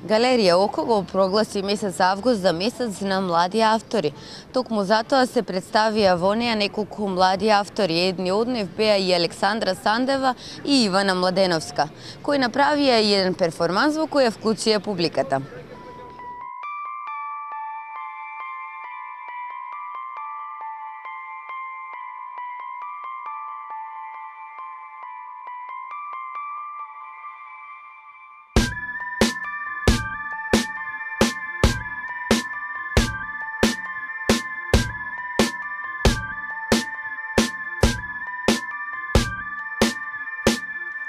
Галерија Око го прогласи месец август за месец на млади автори. Токму затоа се представија во неа неколку млади автори. Едни од нив беа и Александра Сандева и Ивана Младеновска, кои направија и еден перформанс во кој ја вклучија публиката.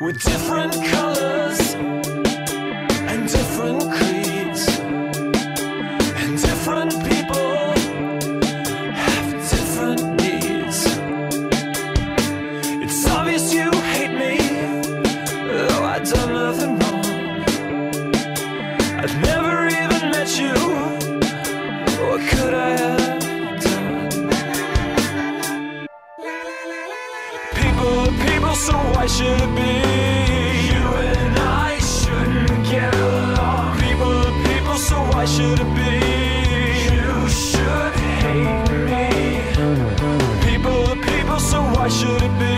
With different colors and different creeds, and different people have different needs. It's obvious you hate me, though I've done nothing wrong. I've never even met you. What could I have done? People, so why should it be? You and I shouldn't get along. People, so why should it be? You should hate me. People, so why should it be?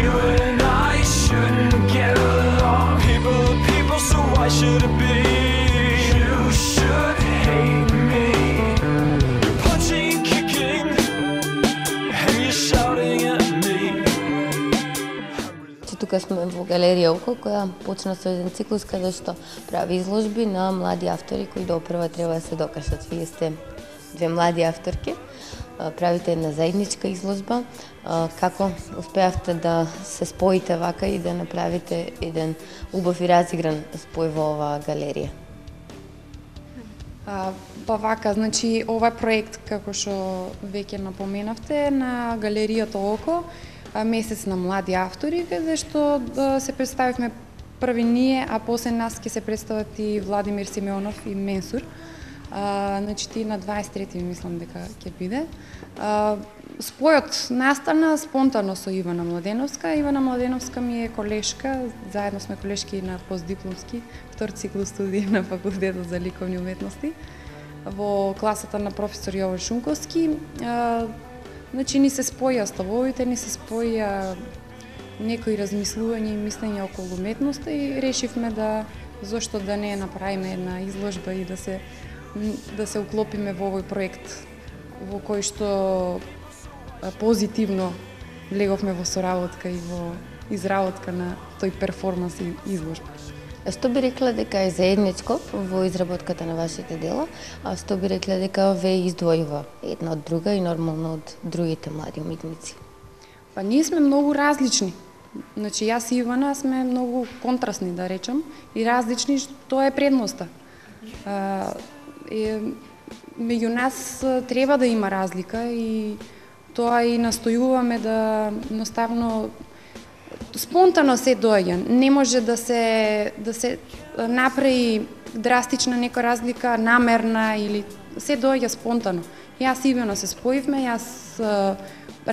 You and I shouldn't get along. People, so why should it be? You should hate me. You're punching and kicking, and you're shouting at me. Тука сме во Галерија Око, која почна со еден циклус каде што прави изложби на млади автори кои допрва треба да се докажат. Вие сте две млади авторки, правите една заедничка изложба. Како успеавте да се споите вака и да направите еден убав и разигран спој во оваа галерија? Па вака, значи, овој проект, како што веќе напоменавте, на Галеријата Око, месец на млади автори, каде што се представивме први ние, а после нас ќе се представат и Владимир Симеонов и Менсур. Значи, на 23-ти мислам дека ќе биде. Спојот настана спонтано со Ивана Младеновска. Ивана Младеновска ми е колешка, заедно сме колешки на постдипломски, втор циклус студии на Факултетот за ликовни уметности, во класата на професор Јован Шунковски. Значи, ни се споја ставовите, ни се споја некои размислувања и мислења околу уметноста и решивме да зошто да не направиме една изложба и да се уклопиме во овој проект во кој што позитивно влеговме во соработка и во изработка на тој перформанс и изложба. Што би рекла дека е заедничко во изработката на вашите дела, а што би рекла дека ве издвојува една од друга и нормално од другите млади уметници? Па ние сме многу различни. Значи, јас и Ивана сме многу контрастни, да речам, и различни, тоа е предноста. Меѓу нас треба да има разлика и тоа и настојуваме да едноставно спонтано се доаѓа. Не може да се направи драстична нека разлика, намерна или се доаѓа спонтано. Јас и Ивана се споивме, јас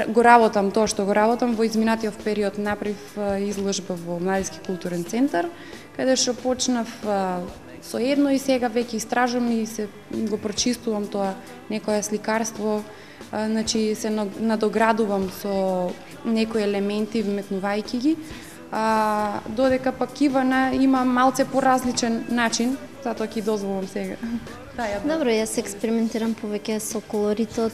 го работам тоа што го работам. Во изминатиот период направив изложба во Младински културен центар, каде што почнав со едно и сега веќе истражувам и се го прочистувам тоа некое сликарство. Значи, се надоградувам со некои елементи, вметнувајќи ги, додека пак Ивана има малце поразличен начин, затоа ќе дозволам сега. Добро, јас експериментирам повеќе со колоритот,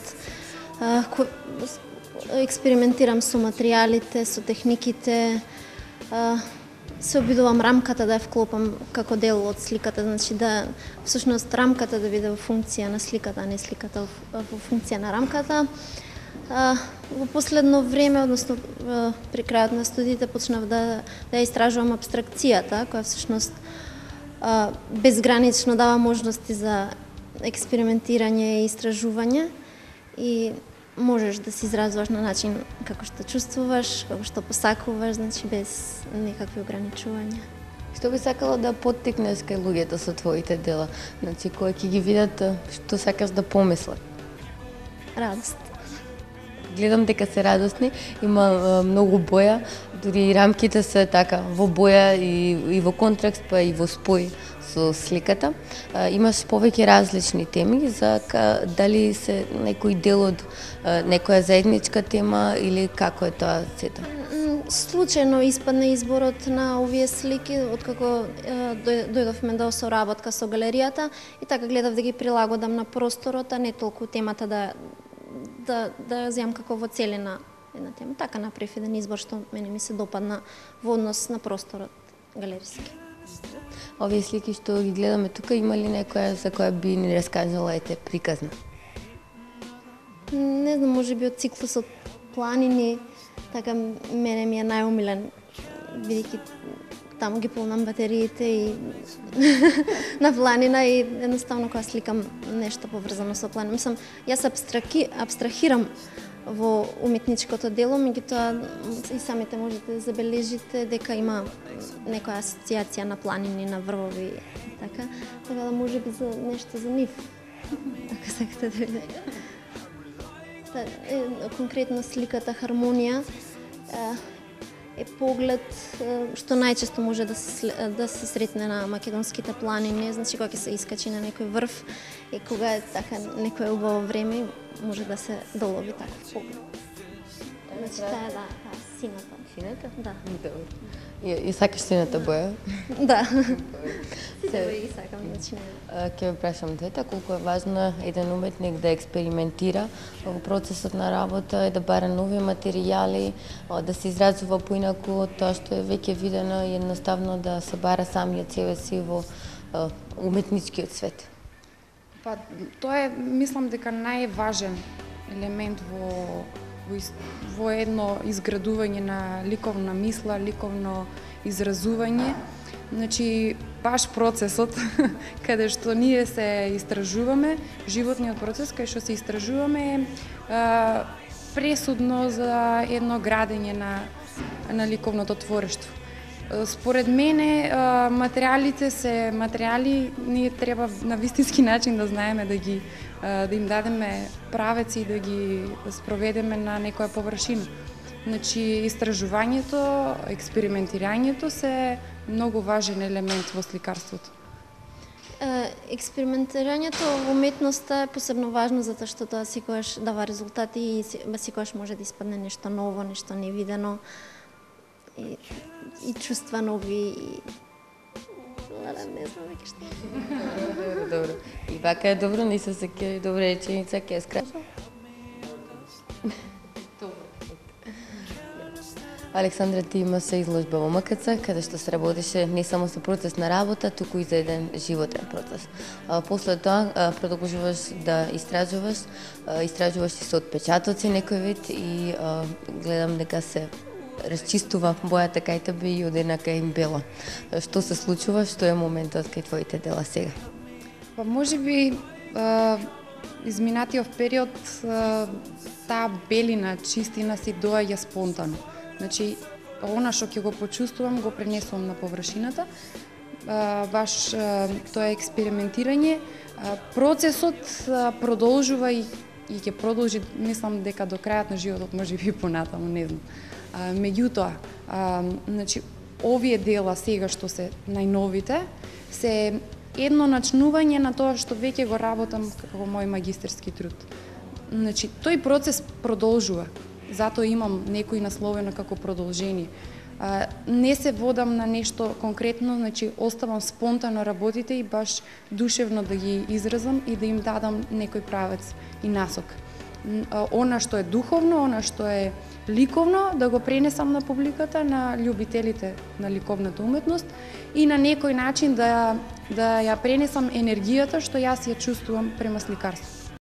експериментирам со материјалите, со техниките, се обидувам рамката да ја вклопам како дел од сликата, значи да всушност рамката да биде во функција на сликата, а не сликата во функција на рамката. Во последно време, односно при крајот на студиите, почнав да истражувам абстракцијата, која всушност безгранично дава можности за експериментирање и истражување и можеш да се изразуваш на начин како што чувствуваш, како што посакуваш, значи без никакви ограничувања. Што би сакала да поттикнеш кај луѓето со твоите дела? Значи, кои ќе ги видат, што сакаш да помислат? Радост. гледам дека се радосни, има многу боја, дури и рамките се така во боја и во контраст, па и во спој со сликата. Имаш повеќе различни теми за дали се некој дел од некоја заедничка тема или како е тоа сета? Случајно испадна изборот на овие слики, откако дојдовме до соработка со галеријата и така гледав да ги прилагодам на просторот, а не толку темата да земам како во целина една тема. Така направив еден избор што мене ми се допадна во однос на просторот галериски. Овие слики што ги гледаме тука, има ли некоја за која би ни раскажала ете приказна? Не знам, може би од циклусот планини, така мене ми е најомилен, бидејќи таму ги полнам батериите и на планина и едноставно кога сликам нешто поврзано со планина. Мислам, јас абстрахирам во уметничкото дело, меѓутоа и самите можете да забележите дека има некоја асоциација на планини, на врвови и така да може би за нешто за нив, ако сакате да видите. Конкретно сликата Хармонија е поглед што најчесто може да се сретне на македонските планини, значи кога ќе се искачи на некој врв и кога е така некое убаво време може да се долови таков поглед. Значи таа е сината. Сината? Да. Добро. И сакаш сината боја? Да. Сите бои сакам, значи не. Ќе ве прашам двете, колку е важно еден уметник да експериментира во процесот на работа и да бара нови материјали, да се изразува поинаку од тоа што е веќе видено и едноставно да се бара самиот себе си во уметничкиот свет. Па, тоа е, мислам дека најважен елемент во едно изградување на ликовна мисла, ликовно изразување. Значи, баш процесот каде што ние се истражуваме, животниот процес каде што се истражуваме е пресудно за едно градење на ликовното творештво. Според мене, материјалите се материјали, ние треба на вистински начин да знаеме да им дадеме правец и да ги спроведеме на некоја површина. Значи, истражувањето, експериментирањето се многу важен елемент во сликарството. Експериментирањето во уметноста е посебно важно затоа што тоа секогаш дава резултати и секогаш може да испадне нешто ново, нешто невидено и чувства нови и не знам веќе што. Добро. И вака е добро, не се сеќа добра реченица, ќе скраша. Александра, ти има се изложба во МКЦ, каде што се работеше не само со процес на работа, туку и за еден животен процес. После тоа продолжуваш да истражуваш и со отпечатоци некој вид и гледам дека се расчистува бојата кај тебе и од една кај бела. Што се случува, што е моментот кај твоите дела сега? Па можеби изминатиот период таа белина, чистина си доаѓа спонтано. Значи, она што ќе го почувствувам, го пренесувам на површината. Баш тоа е експериментирање. Процесот продолжува и ќе продолжи, мислам дека до крајот на животот, можеби понатаму, не знам. Меѓутоа, значи, овие дела сега што се најновите, се едно начнување на тоа што веќе го работам како мој магистерски труд. Значи, тој процес продолжува. Затоа имам некој насловено како продолжение. Не се водам на нешто конкретно, значи оставам спонтано работите и баш душевно да ги изразам и да им дадам некој правец и насок. Она што е духовно, она што е ликовно, да го пренесам на публиката, на љубителите на ликовната уметност и на некој начин да ја пренесам енергијата што јас ја чувствувам према сликарство.